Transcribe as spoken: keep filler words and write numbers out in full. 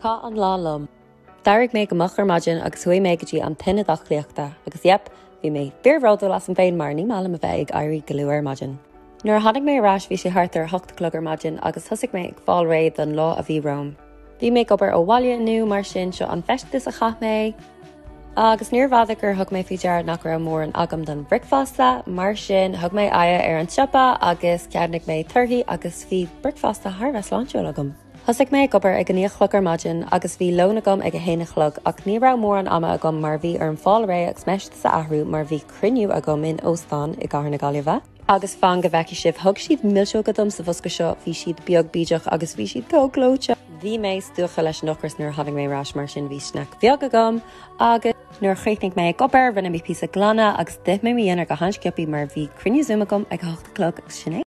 Chaith an lá liom. D'éirigh mé go moch ar maidin agus chuaigh mé go dtí an t-ionad aclaíochta agus yep, bhí mé fíorbhródúil asam féin mar ní maith liom a bheith ag éirí go luath ar maidin. Nuair a tháinig mé ar ais bhí sé thart ar hocht a chlog ar maidin agus thosaigh mé ag fáil réidh don lá a bhí romham. Bhí mé ag obair ó bhaile inniu mar sin seo an feisteas a chaith mé. Agus níorbh fhada gur thug mé faoi deara nach raibh mórán agam don bhricfeasta, mar sin thug mé aghaidh ar an siopa agus cheannaigh mé torthaí agus bhí bricfeasta thar bheith sláintiúil agam. Thosaigh mé ag obair ag a naoi a chlog ar maidin agus bhí lón agam ag a haon a chlog ach ní raibh mórán ama agam mar bhí orm fáil réidh agus m'fheisteas a athrú mar bhí cruinniú agam in óstán i gCathair na Gaillimhe. Agus fan go bhfeicfidh sibh thug siad milseoga dom sa bhosca seo, bhí siad beag bídeach agus bhí siad chomh gleoite. Bhí mé stiúgtha leis an ocras nuair a tháinig mé ar ais mar sin bhí snack bheag agam agus nuair a chríochnaigh mé ag obair rinne mé píosa glanadh agus d'ith mé mo dhinnéar go han-sciobtha mar bhí cruinniú Zoom agam ag a hocht a chlog agus sin é.